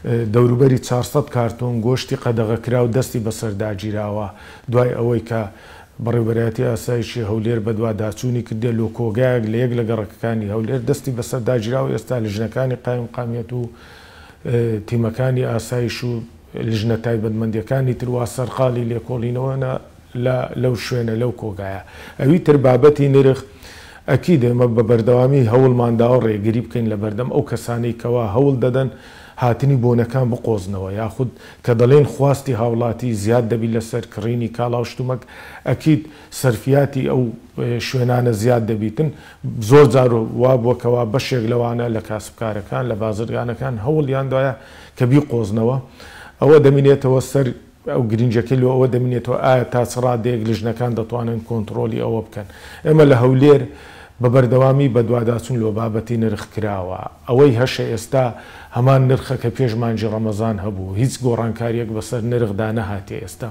دەوروبەری 400 کارتۆن گۆشتی قەدەغەکراو دەستی بەسەرداگیراوە، دوای ئەوەی کە بەڕێوەبەرایەتی ئاسایشی هەولێر بەدواداچوونی کردیە لۆ کۆگایەک لە یەک لە گەڕەکەکانی هەولێر دەستی بەسەرداگیراوە، ئێستا لیژنەکانی قایمقامیەت و تیمەکانی ئاسایش و لیژنە تایبەتمەندیەکانی تر وا سەرقاڵی لێکۆڵینەوەنە لە لەو شوێنە لەو کۆگایە. ئەوی تر بابەتی نرخ، ئەکید ئێمە بە بەردەوامی هەوڵمان داوە ڕێگری بکەین لە بەردەم ئەو کەسانەی کەوا هەوڵ دەدەن هاتنی بۆنەکان بقۆزنەوە، یاخود کە دەڵێین خواستی هاوڵاتی زیاد دەبی لەسەر کڕینی کاڵا و شتومەک ئەکید سەرفیاتی ئەو شوێنانە زیاد دەبیتن، زۆر جار وابووە کەوا بەشێک لەوانە لە کاسبکارەکان لە بازرگانەکان هەوڵیان دایە کە بیقۆزنەوە، ئەوە دەمینێتەوە سەر ئەو گرنگیەکەی لۆ ئەوە دەمینێتەوە ئایا تا چ ڕادەیەک لیژنەکان دەتوانن کۆنتڕۆلی ئەوە بکەن. ئێمە لە هەولێر بە بەردەوامی بەدواداچوون لۆ بابەتی نرخ کراوە. ئەوەی هەشە ئێستا هەمان نرخە کە پێش مانگی ڕەمەزان هەبوو. هیچ گۆڕانکاریەک بەسەر نرخدا نەهاتیە ئێستا.